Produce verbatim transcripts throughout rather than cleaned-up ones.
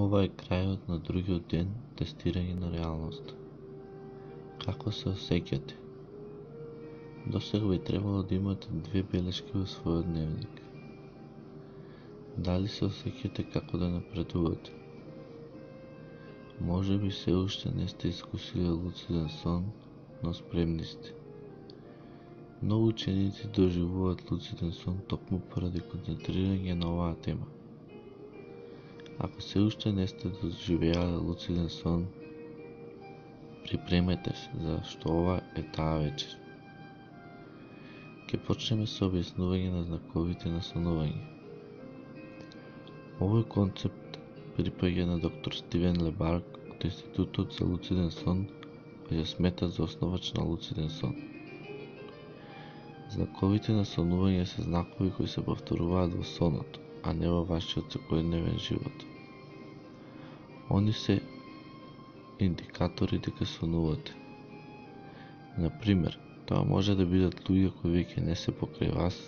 Ова е крајот на другиот ден тестирање на реалноста. Како се осеќате? Досега би требало да имате две белешки во својот дневник. Дали се осеќате како да напредувате? Може би се уште не сте искусиле луциден сон, но спремни сте. Многу ученици доживуваат луциден сон токму поради концентрирање на оваа тема. Ако се уште не сте доживеале луциден сон, припремете се, зашто ова е таа вечер. Ке почнеме со објаснување на знаковите на сонување. Овој концепт припаѓа на доктор Стивен Лебарк од Институтот за луциден сон, кој се смета за основач на луциден сон. Знаковите на сонување се знакови кои се повторуваат во сонот, а не во вашиот секојдневен живот. Они се индикатори дека сонувате. Например, тоа може да бидат луѓе кои веќе не се покрај вас,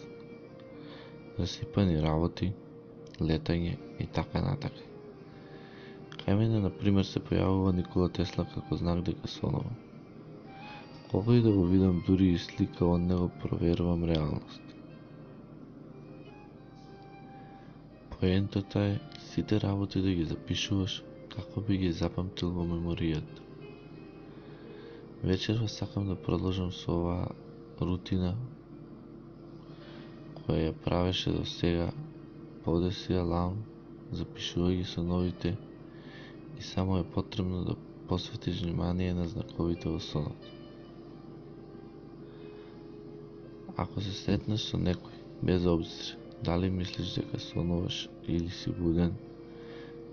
расипани работи, летање и така натака. Кај мене, например, се појавува Никола Тесла како знак дека сонува. Кога и да го видам дури и слика од него, проверувам реалност. Поентата е сите работи да ги запишуваш како би ги запамтил во меморијата. Вечерва сакам да продолжам со оваа рутина која ја правеше до сега. Подеси аларм, запишувај ги соновите и само е потребно да посветиш внимание на знаковите во сонот. Ако се сретнеш со некој, без обзир дали мислиш дека сонуваш или си буден,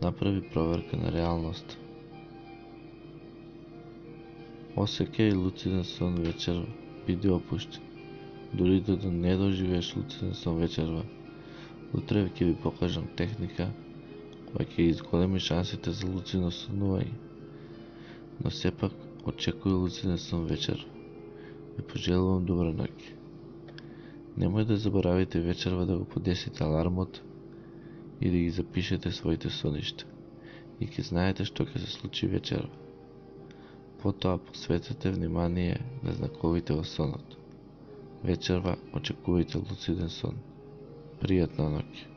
направи проверка на реалноста. Осеќај луциден сон вечерва, биди опуштен. Дури да не доживееш луциден сон вечерва, утре ќе ви покажам техника која ќе изголеми шансите за луцидно сонување. Но сепак, очекувај луциден сон вечерва. Ви пожелувам добра ноќ. Немој да заборавите вечерва да го подесите алармот и да ги запишете своите соништа. И ќе знаете што ќе се случи вечерва. Потоа посветете внимание на знаковите во сонот. Вечерва очекувајте луциден сон. Пријатна ноќ.